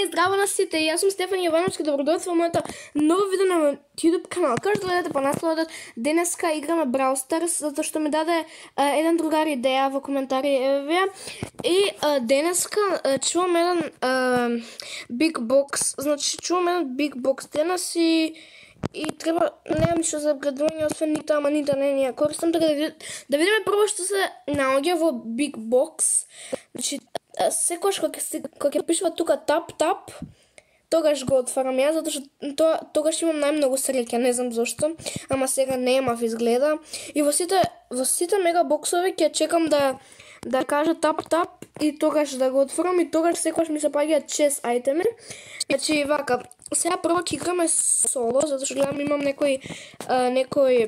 здраво на сите, јас сум Стефан Јовановски, добродојдовте во моето ново видео на YouTube канал. Како што гледате по насловот, денеска играме Brawl Stars, затоа што ми даде еден другар идеја во коментари и денеска чувам еден Big Box, значи чувам еден Big Box денес и треба, немам ништо за апгрейдување, освен нита, ама нита не ја користам, така да видиме прво што се наоѓа во Big Box. Значи, секогаш кога ќе пишува тука тап, тогаш го отварам ја, затоа што тогаш имам најмногу среќа, не знам зошто, ама сега немав изгледа. И во сите мега боксови ќе чекам да кажа тап и тогаш да го отворам и тогаш секогаш ми се паѓаат 6 ајтеми. Значи вака, сега прво ќе играме соло, затоа што гледам имам некој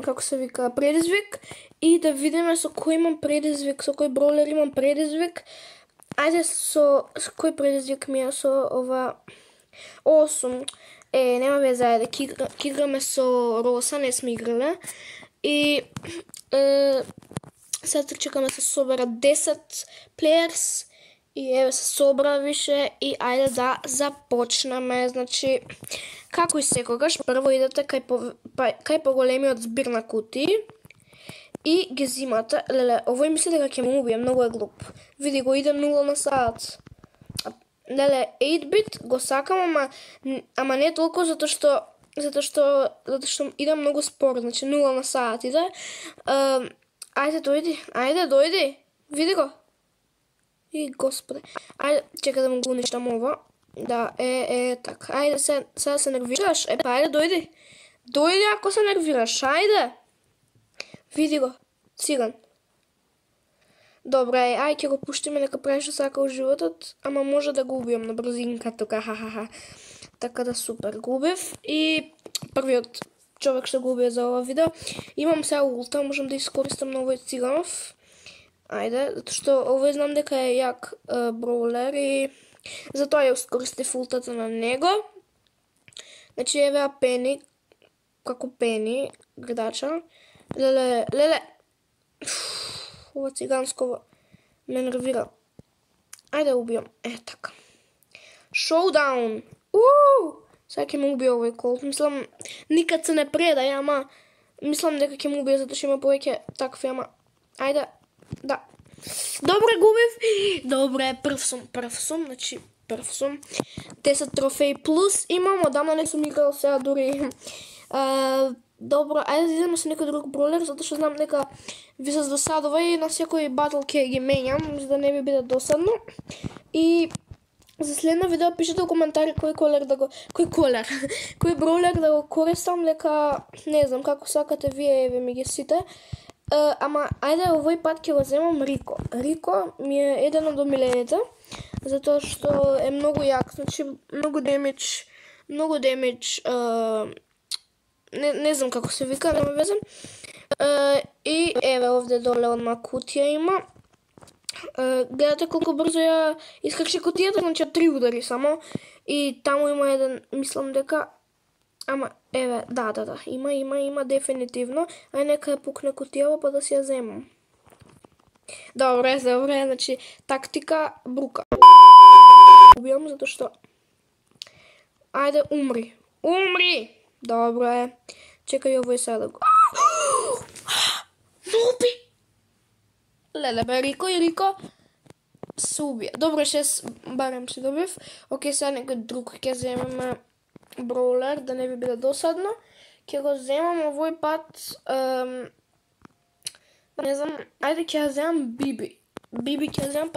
како се вика, предизвик и да видиме со кој имам предизвик, со кој броулер имам предизвик. Ајде со кој предизвик ми е со ова 8. Нема везе, ајде ќе играме со Роса, не сме играле. И сега чекаме се собера 10 плеерс и еве се собра више и ајде да започнеме. Значи, како и секогаш, прво идете кај поголемиот збир на кутии и ги зимате. Леле, овој мисли дека ќе му убие, многу е глуп. Види го, иде 0 на саат. Леле, 8-bit го сакам, ама не толку затоа што иде многу спор, значи 0 на саат иде. Ајде дојди, види го. И господе, ајде, чека да му го уништам ова. Да, така, ајде сега се нервираш, ајде дојди ако се нервираш, ајде. Види го, циган. Добре, ајде ќе го пуштиме, нека прави што сака во животот, ама може да го убијам на брзинка тука, ха. Така да супер, го убив и првиот човек што го убие за ова видео. Имам сега улта, можам да искористам на овој циганов. Ајде, затоа што овој знам дека е јак броулер и затоа ја искористив ултата на него. Значи еве Пени, како Пени, гледача. Леле, ова циганско ме нервира. Ајде убијам, така. Шоудаун! Сега ќе ме убие овој колт. Мислам, никад се не предај, ама мислам дека ќе ме убие, затоа што има повеќе такви, ама ајде, да. Добре, губив. Добре, прв сум, значи прв сум. 10 трофеи плюс имам, одамна не сум играл сега дури. Добро, ајде да идеме со некој друг броулер, затоа што знам дека ви се досадува и на секој батл ќе ги менјам, за да не ви биде досадно. И за следно видео пишете во коментари кој броулер да го користам, дека не знам како сакате вие, еве ми ги сите. Ама ајде овој пат ќе го земам Рико. Рико ми е еден од омилените, затоа што е многу јак, значи многу демидж, не знам како се вика, нема везе. И еве овде доле одма кутија има. Гледате колку брзо ја искрши кутијата, значи 3 удари само. И таму има еден, мислам дека, ама еве, да, има дефинитивно. Ај нека ја пукне кутијава па да си ја земам. Добре, значи тактика брука. Убијам затоа што ајде умри. Добре. Чекај овој сега да го. Нуби. Леле бе, Рико се убија. Добре, 6 барем си добив. Океј, сега некој друг ќе земеме броулер, да не би биде досадно. Ќе го земам овој пат, не знам, ајде ќе ја земам Биби. Биби ќе ја земам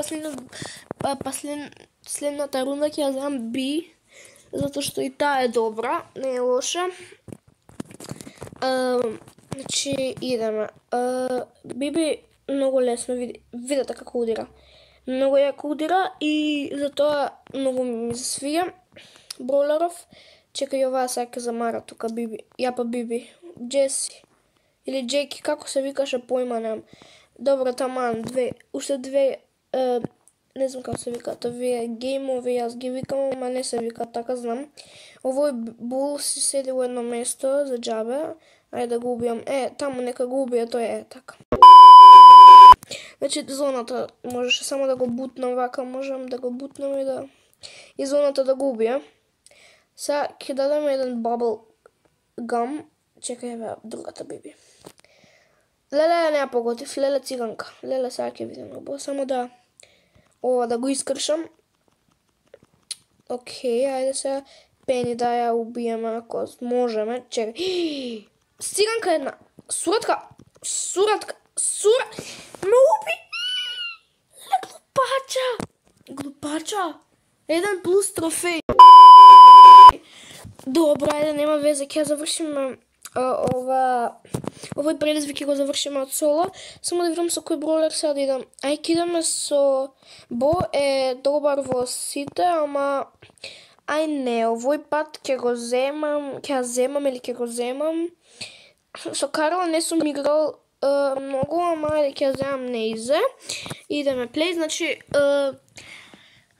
следната рунда ќе ја земам Би, затоа што и таа е добра, не е лоша. Значи идеме. Биби многу лесно, видете како удира. Многу јако удира и затоа многу ми се свиѓа броулеров. Чекај оваа сега ќе замара тука Биби. Јапа Биби. Джеси. Или Джеки, како се викаше, појма немам. Добро, таман, уште две, не знам како се викаат овие геймови, јас ги викам, ама не се викаат така, знам. Овој бул си седи во едно место за џабе. Ајде да го убијам. Таму нека го убие, тој така. Значи зоната можеше само да го бутнам вака, можам да го бутнам и да и зоната да го убие. Сега ќе дадеме еден bubble gum. Чекај, бе, другата биби. Леле не ја поготив, леле циганка. Леле сега ќе видиме, само да ова да го искршам. Океј, ајде сега Пени да ја убиеме ако можеме. Чекај. Циганка една. Суратка. Ме уби. Леле глупача. 1+ трофеј. Добро, ајде, нема везе, ќе завршиме овој предизвик ќе го завршиме од соло. Само да видам со кој бролер сега да идам. Ај, ќе идеме со Бо е добар во сите, ама ај не, овој пат ќе го земам, ќе го земам. Со Карла не сум играл многу, ама ајде ќе земам Нейзе. Идеме плей, значи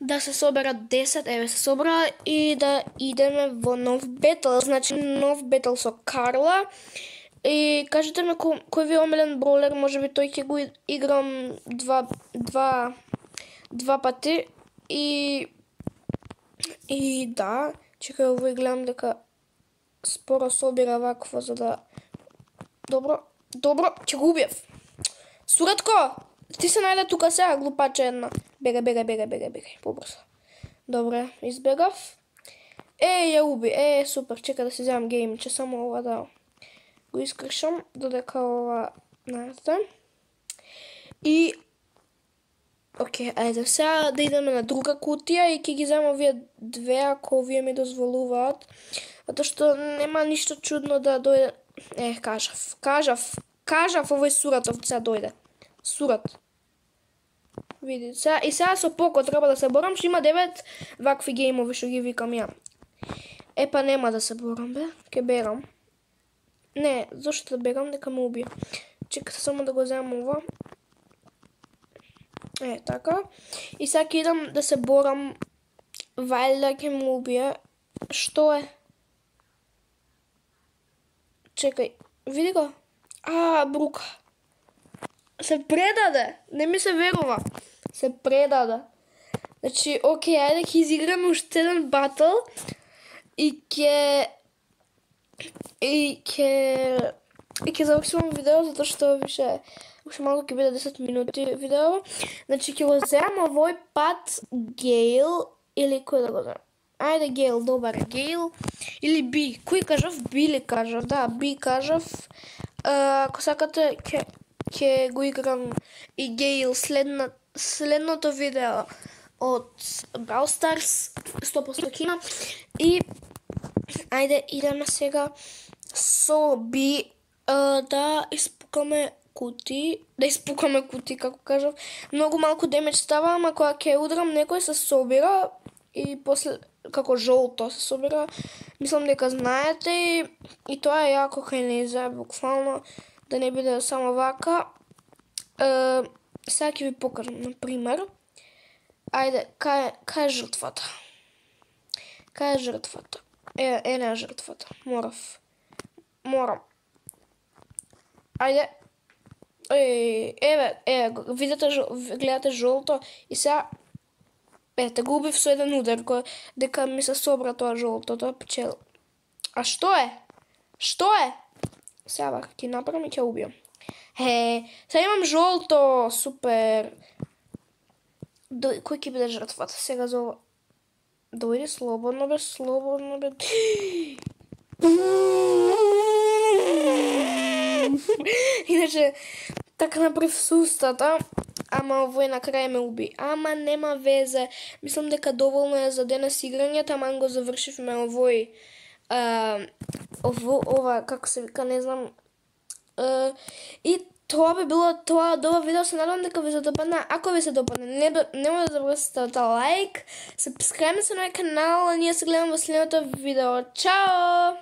да се соберат 10, еве се собра и да идеме во нов бетл, значи нов бетл со Карла. И кажете ме кој ви е омилен бролер, можеби тој ќе го играм два пати и да, чекај овој гледам дека споро собира вакво за да добро, ќе го убиев. Суратко, ти се најде тука сега, глупача една. Бегај, побрзо. Добре, избегав. Ја уби, супер, чека да си земам геймче, само ова да го искршам, додека ова најде. И океј, ајде сега да идеме на друга кутија и ќе ги земам овие две ако овие ми дозволуваат. Затоа што нема ништо чудно да дојде. Кажав овој Суратов сега дојде. Сурат. Види, и сега со Поко треба да се борам, што има 9 вакви геймови што ги викам ја. Па нема да се борам, бе, ке берам. Не, зашто да бегам, дека ме убие. Чекате само да го земам ова. Така. И сега ќе идам да се борам, вајда ќе ме убие. Што е? Чекај, види го. Брука. Се предаде, не ми се верува. Се предаде. Значи, океј, ајде ќе изиграме уште еден батл и ќе завршувам видео, затоа што уште малку ќе биде 10 минути видео. Значи, ќе го земам овој пат Гейл или кој да го земам? Ајде Гейл, добар Гейл. Или Би, кој кажав? Би ли кажав? Да, Би кажав. Ако сакате, ќе го играм и Гейл следното видео од Brawl Stars 100% кина. И ајде идеме сега со Би да испукаме кути, како кажав. Многу малку демидж става, ама кога ќе удрам некој се собира и после како жолто се собира. Мислам дека знаете и тоа е јако кај Нейзе, буквално да не биде само вака. Сега ќе ви покажам, например. Ајде, кај е жртвата? Кај е жртвата? Не е жртвата. Морам. Ајде. Гледате жолто и сега те го убив со еден удар, дека ми се собра тоа жолто, тоа пчел. А што е? Сега вака ќе направам и ќе убијам. Сега имам жолто, супер. Кој ќе биде жртвата? Сега за ова. Дојди слободно бе. Иначе, така направив со устата, ама овој на крај ме уби. Ама нема везе. Мислам дека доволно е за денес играње, таман го завршивме овој ова, како се вика, не знам. И тоа би било тоа од ова видео, се надевам дека ви се допадна. Ако ви се допадне, нема да забравите лайк, сабскрајбнете се на мојот канал, а ние се гледаме во следното видео. Чао!